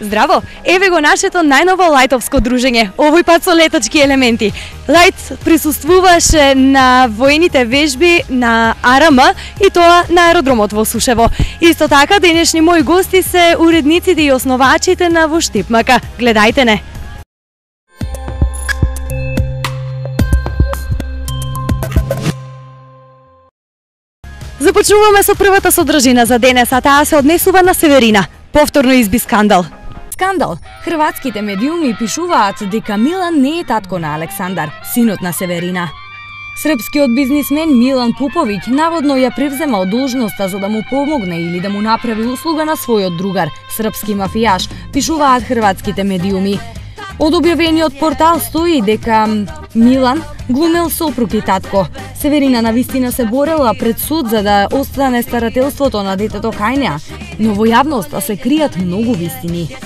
Здраво! Еве го нашето најново лајтовско дружење, овој пат со летачки елементи. Лајт присуствуваше на воените вежби на АРМ и тоа на аеродромот во Сушево. Исто така, денешни мои гости се уредниците и основачите на Во Штип МК. Гледајте не! Започнуваме со првата содржина за денес, а таа се однесува на Северина. Повторно изби скандал. Скандал. Хрватските медиуми пишуваат дека Милан не е татко на Александар, синот на Северина. Српскиот бизнисмен Милан Пуповиќ наводно ја превземал должноста за да му помогне или да му направи услуга на својот другар, српски мафијаш, пишуваат хрватските медиуми. Од објавениот портал стои дека Милан глумел сопруг и татко. Северина навистина се борела пред суд за да остане старателството на детето кај неа, но во јавноста се кријат многу вистини.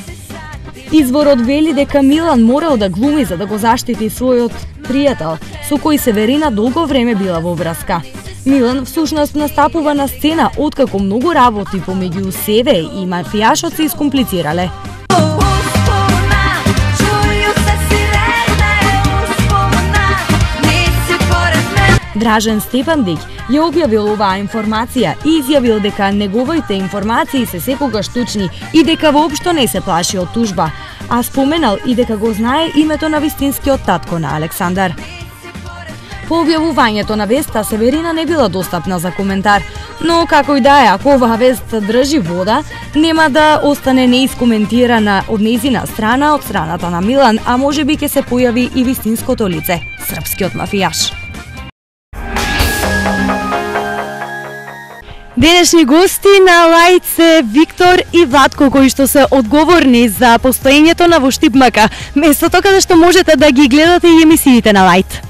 Изворот вели дека Милан морал да глуми за да го заштити својот пријател, со кој Северина долго време била во враска. Милан всушност настапува на сцена откако многу работи помеѓу себе и мафијашот се искомплицирале. Дражен Стефандиќ ја објавил оваа информација и изјавил дека неговите информации се секогаш точни и дека воопшто не се плаши од тужба, а споменал и дека го знае името на вистинскиот татко на Александар. По објавувањето на веста, Северина не била достапна за коментар, но како и да е, ако оваа вест држи вода, нема да остане неискоментирана од нејзина страна, од страната на Милан, а можеби ќе се појави и вистинското лице, српскиот мафијаш. Денешни гости на Лајт се Виктор и Владко, кои што се одговорни за постоењето на Во Штип МК, местото каде што можете да ги гледате и емисиите на Лајт.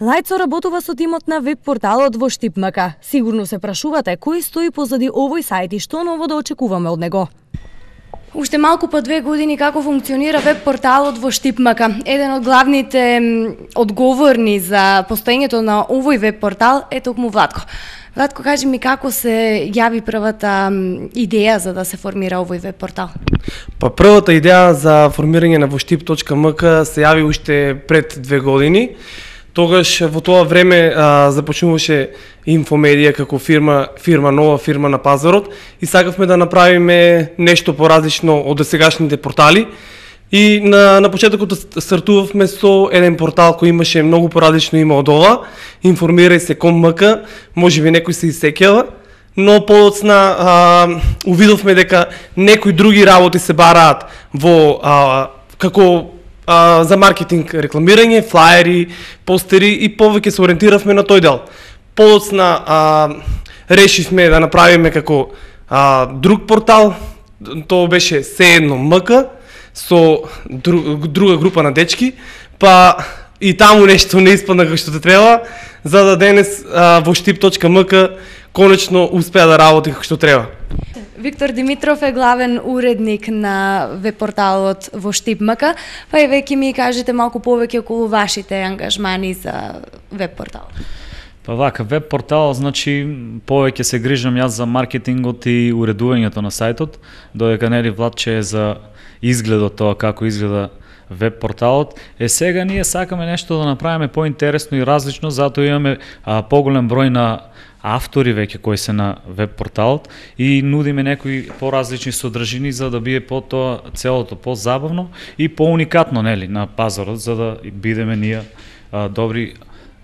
Лајт соработува со тимот на веб порталот Во Штип МК. Сигурно се прашувате кој стои позади овој сајт и што ново да очекуваме од него. Уште малку по 2 години како функционира веб порталот Во Штип МК. Еден од главните одговорни за постоењето на овој веб портал е токму Владко. Владко, кажи ми како се јави првата идеја за да се формира овој веб портал? Па првата идеја за формирање на voštip.mk се јави уште пред 2 години. Тогаш во тоа време започнуваше Инфомедија како нова фирма на пазарот и сакавме да направиме нешто поразлично од досегашните портали. И на почетокот стартувавме со еден портал кој имаше многу поразлично име од ова, Информирај се .mk, можеби некој се исеќава, но подоцна увидовме дека некои други работи се бараат во како за маркетинг рекламирање, флаери, постери и повеќе се ориентиравме на тој дел. Подоцна решивме да направиме како друг портал, тоа беше Се едно МК, со друга група на дечки, па и таму нешто не испадна како што те треба, за да денес voštip.mk конечно успеа да работи како што треба. Виктор Димитров е главен уредник на веб-порталот Во Штип МК, па и веќе ми кажете малку повеќе околу вашите ангажмани за веб-портал. Па вака, веб-портал, значи, повеќе се грижам јас за маркетингот и уредувањето на сајтот, додека нели Владче е за изгледот тоа како изгледа веб-порталот. Сега ние сакаме нешто да направиме поинтересно и различно, затоа имаме поголем број на автори веќе кои се на веб-порталот и нудиме некои поразлични содржини за да биде по тоа целото позабавно и поуникатно нели на пазарот, за да бидеме ние добри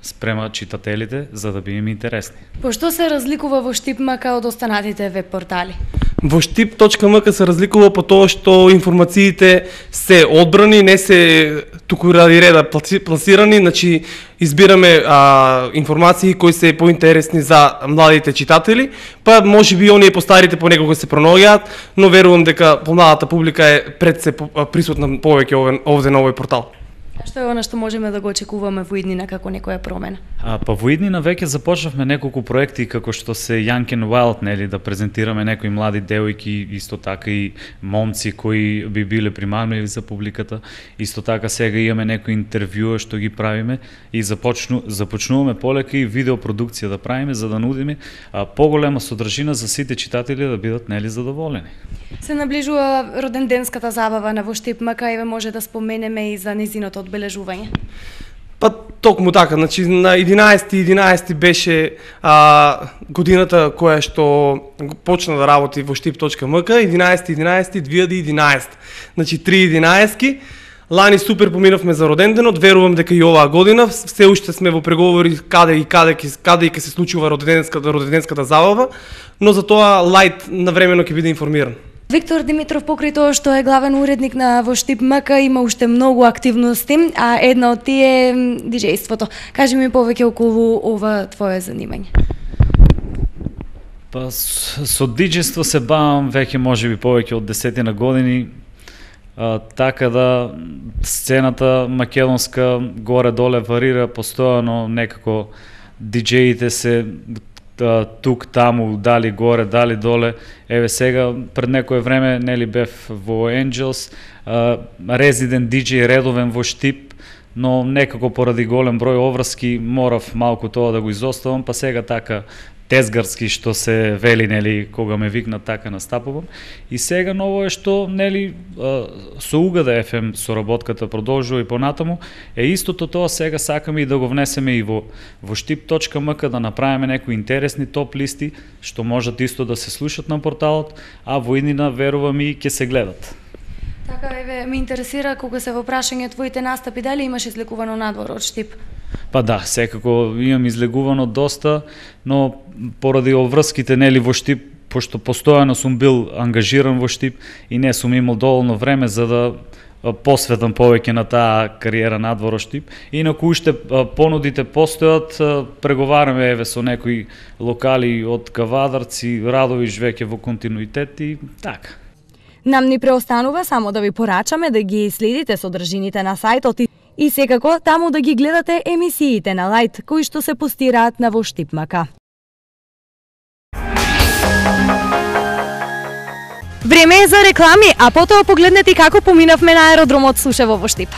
спрема читателите за да бидеме интересни. По што се разликува Во Штип МК од останатите веб-портали? voštip.mk се разликува по тоа што информациите се одбрани, не се туку ради реда пласирани, значи избираме информации кои се поинтересни за младите читатели, па можеби оние постарите понекога се пронаоѓаат, но верувам дека помладата публика е пред се присутна повеќе овде на овој портал. Што е она што можеме да го очекуваме во иднина како некоја промена? Па во иднина веќе започнавме неколку проекти како што се Young and Wild, нели, да презентираме некои млади девојки, исто така и момци кои би биле примамливи за публиката. Исто така сега имаме некои интервјуа што ги правиме и започнуваме полека и видеопродукција да правиме за да нудиме поголема содржина за сите читатели да бидат, нели, задоволени. Се наближува роденденската забава на Воштип МК, еве може да споменеме и за незиното одбележување. Па токму така, значи на 11.11 беше годината која што почна да работи Воштип.мк, 11.11.2011. Значи 3.11. Лани супер поминавме за роденденот, верувам дека и оваа година се уште сме во преговори каде ќе се случува роденденската забава, но за тоа Лајт навремено ќе биде информиран. Виктор Димитров, покрај тоа што е главен уредник на Воштип МК, има уште многу активности, а една од тие е диџејството. Кажи ми повеќе околу ова твое занимање. Па со диџејство се бавам веќе можеби повеќе од 10 години, така да сцената македонска горе-доле варира постојано, некако диџеите се тук, таму, дали горе, дали доле. Еве сега, пред некое време, нели бев во Angels, резидент диџеј редовен во Штип, но некако поради голем број обврски морав малку тоа да го изоставам, па сега така тезгарски што се вели, нели, кога ме викнат така настапувам. И сега ново е што, нели, со Угада FM соработката продолжува и понатаму, е истото тоа сега сакаме и да го внесеме и во Штип.мк, да направиме некои интересни топ листи што можат исто да се слушат на порталот, а во иднина верувам и ќе се гледат. Така, еве, ме интересира кога се во прашање твоите настапи, дали имаш излекувано надвор од Штип? Па да, секако имам излегувано доста, но поради обврските, нели, во Штип, пошто постојано сум бил ангажиран во Штип и не сум имал доволно време за да посветам повеќе на таа кариера надвор од Штип. Инаку уште понудите постојат, преговараме еве со некои локали од Кавадарци, Радовиш веќе во континуитет и така. Нам ни преостанува само да ви порачаме да ги следите содржините на сајтот и секако таму да ги гледате емисиите на Лајт кои што се постираат на Воштип МК. Време е за реклами, а потоа погледнете како поминавме на аеродромот Сушево во Штип.